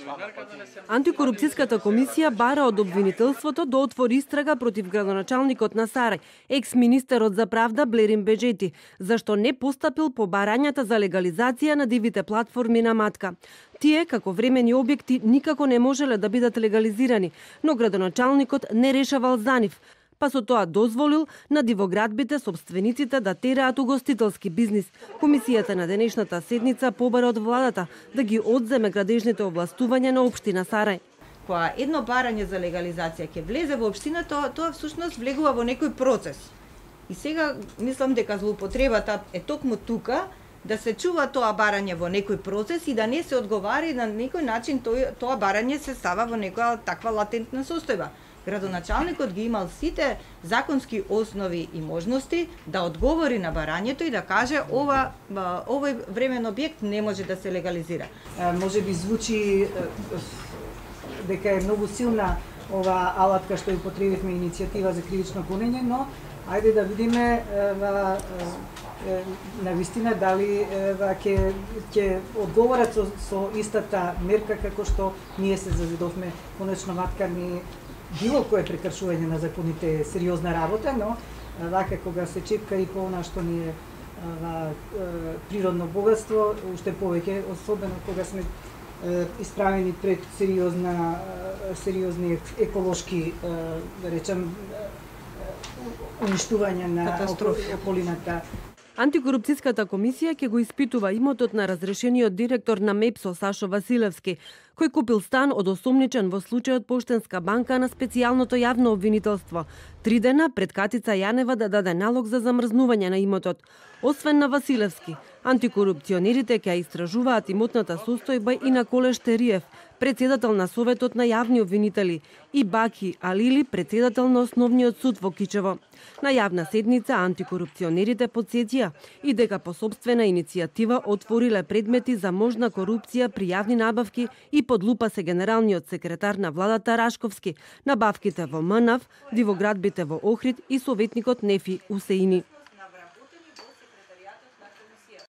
Антикорупцијската комисија бара од обвинителството да отвори истрага против градоначалникот на Сарај, екс-министерот за правда Блерин Беџети, зашто не постапил по барањата за легализација на дивите платформи на Матка. Тие, како времени објекти, никако не можеле да бидат легализирани, но градоначалникот не решавал за нив, па со тоа дозволил на дивоградбите собствениците да тераат угостителски бизнис. Комисијата на денешната седница побара од владата да ги одземе градежните овластувања на општина Сарај. Кога едно барање за легализација ќе влезе во општината, тоа всушност влегува во некој процес. И сега мислам дека злоупотребата е токму тука, да се чува тоа барање во некој процес и да не се одговари на некој начин тоа барање се става во некоја таква латентна состојба. Градоначалникот ги имал сите законски основи и можности да одговори на барањето и да каже овој времен објект не може да се легализира. Може би звучи дека е многу силна ова алатка што ја употребивме, иницијатива за кривично гонење, но ајде да видиме на вистина дали ќе одговорат со истата мерка како што ние се завидовме. Конечно Матка не било кое прекршување на законите е сериозна работа, но вака кога се чепка и по она што ни е природно богатство, уште повеќе, особено кога сме исправени пред сериозни еколошки, да речем, уништување на околината. Антикорупцијската комисија ќе го испитува имотот на разрешениот директор на МЕПСО Сашо Василевски, кој купил стан од осомничен во случајот Поштенска банка на специјалното јавно обвинителство. 3 дена пред Катица Јанева да даде налог за замрзнување на имотот. Освен на Василевски, антикорупционерите ќе истражуваат имотната состојба и на Колеш Териев, председател на Советот на јавни обвинители, и Баки Алили, председател на Основниот суд во Кичево. На јавна седница антикорупционерите потсетија и дека по сопствена иницијатива отвориле предмети за можна корупција при јавни набавки и под лупа се генералниот секретар на владата Рашковски, набавките во МНАВ, дивоградбите во Охрид и советникот Нефи Усеини.